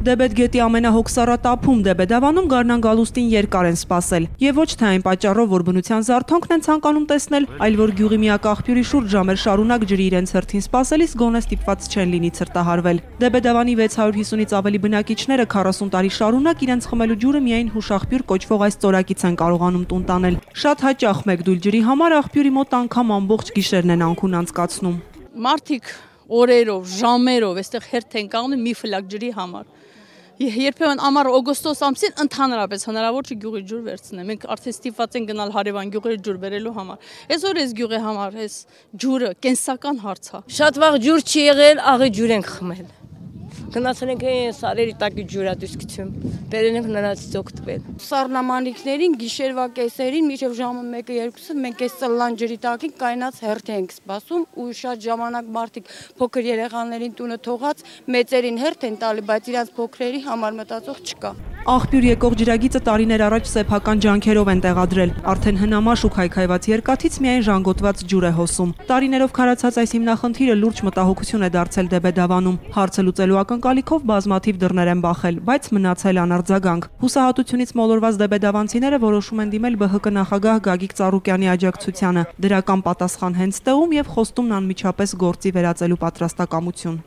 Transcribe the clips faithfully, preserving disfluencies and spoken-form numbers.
Դեբեդ գետի ամենահոգսառատ ափում Դեբեդավանում գարնան գալուստին երկար են սպասել, եւ ոչ թե այն պատճառով, որ բնության զարթոնքն են ցանկանում տեսնել, այլ որ գյուղի միակ աղբյուրի շուրջ ժամեր շարունակ ջրի իրենց հերթին սպասելիս գոնե ստիպված չեն լինի ցրտահարվել։ Դեբեդավանի վեց հարյուր հիսունից ավելի բնակիչները քառասուն տարի շարունակ իրենց խմելու ջուրը միայն հուշաղբյուր կոչվող այս ծորակից են կարողանում տուն տանել։ Շատ հաճախ մեկ դույլ ջրի համար աղբյուրի մոտ անգամ ամբողջ գիշերն են անքուն անցկացնում։ Մարդիկ օրերով, ժամերով այստեղ հերթ են կանգնում մի ֆլակ ջրի համար։ Երբեմն ամառ օգոստոս ամսին ընդհանրապես հնարավոր չէ գյուղի ջուր վերցնել։ Մենք արդեն ստիպված ենք գնալ հարևան գյուղերի ջուր բերելու համար։ Այսօր այս գյուղի համար այս ջուրը կենսական հարց է։ Շատ վաղ ջուր չի եղել, աղի ջուր ենք խմել։ Գնացել ենք սարերի տակի ջուրատուսկություն, բերել ենք նրանցից օգտվել։ Սառնամանիքներին գիշերվա կեսերին մինչև ժամը մեկը երկուսը մենք այս ծլլան ջրի տակին կայնած հերթ ենք սպասում ու շատ ժամանակ մարդիկ փոքր երեխաներին տունը թողած մեծերին հերթ են տալի, բայց իրանց փոքրերի համար մտածող չկա։ Աղբյուր եկող ջրագիծը տարիներ առաջ սեփական ջանքերով են տեղադրել, արդեն հնամաշ ու քայքայված երկաթից միայն ժանգոտված ջուր է հոսում։ Տարիներով քարացած այս հիմնախնդիրը լուրջ մտահոգություն է դարձել Դեբեդավանում։ Հարցը լուծելու ակնկալիքով բազմաթիվ դռներ են բախել, բայց մնացել անարձագանք։ Հուսահատությունից մոլորված դեբեդավանցիները որոշում են դիմել ԲՀԿ նախագահ Գագիկ Ծառուկյանի աջակցությանը, դրական պատասխան հենց տեղում եւ խոստումն անմիջապես գործի վերածելու պատրաստակամություն։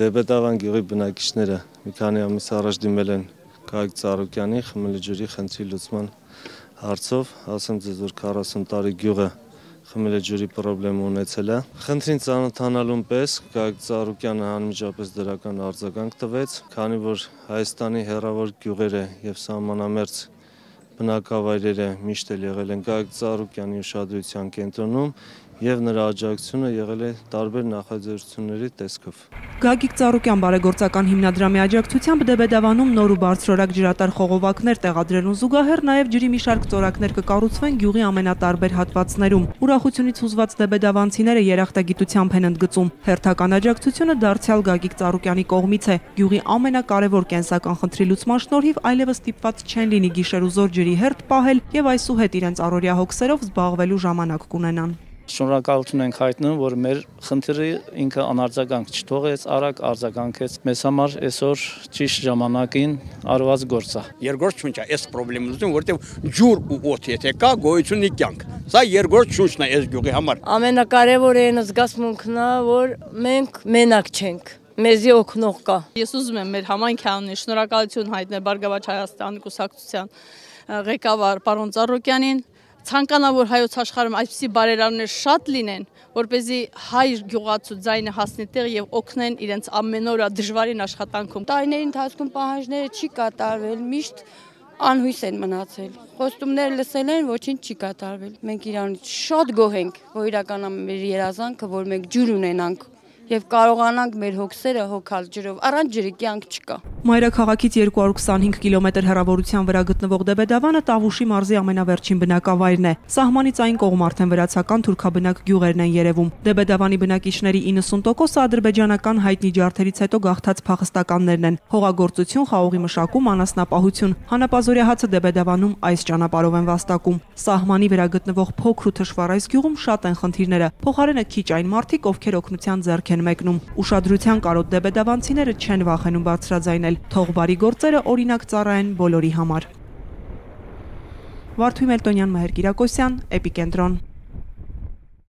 Դեբեդավան գյուղի բնակիչները մի քանի ամիս առաջ դիմել են Գագիկ Ծառուկյանի խմելու ջրի խնդրի լուծման հարցով, ասեմ ձեզ, որ քառասուն տարի գյուղը խմելու ջրի խնդրեմ ունեցել է։ Խնդրին ծանոթանալուն պես Գագիկ Ծառուկյանը անմիջապես դրական արձագանք տվեց, քանի որ Հայաստանի հեռավոր գյուղերը եւ սահմանամերձ բնակավայրերը միշտ էլ եղել են Գագիկ Ծառուկյանի ուշադրության կենտրոնում եւ նրա աջակցությունը եղել է տարբեր նախաձեռնությունների տեսքով։ Գագիկ Ծառուկյան բարեգործական հիմնադրամի աջակցությամբ Դեբեդավանում նոր ու բարձրորակ ջրատար խողովակներ տեղադրելուն զուգահեռ նաև ջրի մի շարք ծորակներ կկառուցվեն գյուղի ամենատարբեր հատվածներում։ Ուրախությունից հուզված դեբեդավանցիները երախտագիտությամբ են ընդգծում։ Հերթական աջակցությունը դարձյալ Գագիկ Ծառուկյանի կողմից է։ Գյուղի ամենակարևոր կենսական խնդրի լուծման շնորհիվ այլևս ստիպված չեն լինի գիշեր ու զոր ջրի հերթ պահել եւ այսուհետ իրենց առօրյա հոգսերով զբաղվելու ժամանակ կունենան։ Շնորհակալություն ենք հայտնում, որ մեր խնդիրը ինքը անարձագանք չթողեց, արագ արձագանքեց։ Մեզ համար այսօր ճիշտ ժամանակին արված գործ է։ Երկրորդ շունչը այս խնդրի լուծում, որտեղ ջուր ու օդ եթե կա, գոյություն ունի կյանք։ Սա երկրորդ շունչն է այս գյուղի համար։ Ամենակարևորը այն զգացմունքն է, որ մենք մենակ չենք։ Մեզի օգնող կա։ Ես ուզում եմ մեր համայնքի անունից շնորհակալություն հայտնել Բարգավաճ Հայաստանի կուսակցության ղեկավար պարոն Ծառուկյանին։ Ցանկանա որ հայոց աշխարհում այսպիսի բարերարներ շատ լինեն, որպեսզի հայ գյուղացու ձայնը հասնի տեղ եւ օգնեն իրենց ամենօրյա դժվարին աշխատանքում։ Տարիների ընթացքում պահանջները չի կատարվել, միշտ անհույս են մնացել։ Խոստումներ լսել են, ոչինչ չի կատարվել։ Մենք իրանից շատ գոհ ենք, որ իրականանում մեր երազանքը, որ մենք ջուր ունենանք եւ կարողանանք մեր հոգսերը հոգալ ջրով, առանց ջրի կյանք չկա։ Մայրաքաղաքից երկու հարյուր քսանհինգ կիլոմետր հեռավորության վրա գտնվող Դեբեդավանը Տավուշի մարզի ամենավերջին բնակավայրն է։ Սահմանից այն կողմ արդեն վրացական թուրքաբնակ գյուղերն են երևում։ Դեբեդավանի բնակիչների իննսուն տոկոսը ադրբեջանական հայտնի ջարդերից հետո գաղթած փախստականներն են։ Հողագործություն, խաղողի մշակում, անասնապահություն։ Հանապազորյա հացը Դեբեդավանում այս ճանապարհով են վաստակում։ Սահմանի վրա գտնվող փոքր ու թշվառ այս գյուղում շատ են խնդիրները։ Փոխարենը քիչ այն մարդիկ, ովքեր օգնության ձեռք են մեկնում։ Ուշադրության կարոտ դեբեդավանցիները չեն վախենում բարձրաձայնել, թող բարի գործերը օրինակ ծառայեն բոլորի համար։ Վարդուհի Մելտոնյան, Մհեր Կիրակոսյան, Էպիկենտրոն։